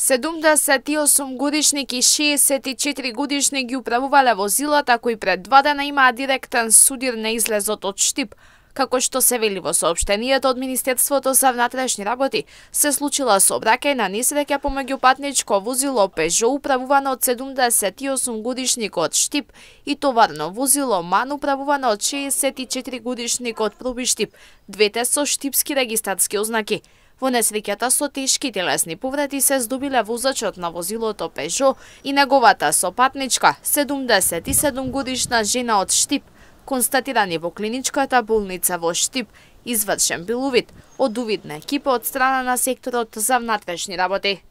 78 годишник и 64 годишник ги управувале возилата кои пред 2 дена имаа директен судир на излезот од Штип. Како што се вели во соопштенијето од Министерството за внатрешни работи, се случила сообраќајна несреќа помеѓу патничко возило Пежо управувано од 78 годишник од Штип и товарно возило Ман управувано од 64 годишник од Проби Штип, двете со штипски регистарски ознаки. Во несреќата со тешки телесни повреди се здобиле возачот на возилото Пежо и неговата сопатничка, 77 годишна жена од Штип, констатирани во клиничката болница во Штип, извршен бил увид од увидна екипа од страна на секторот за внатрешни работи.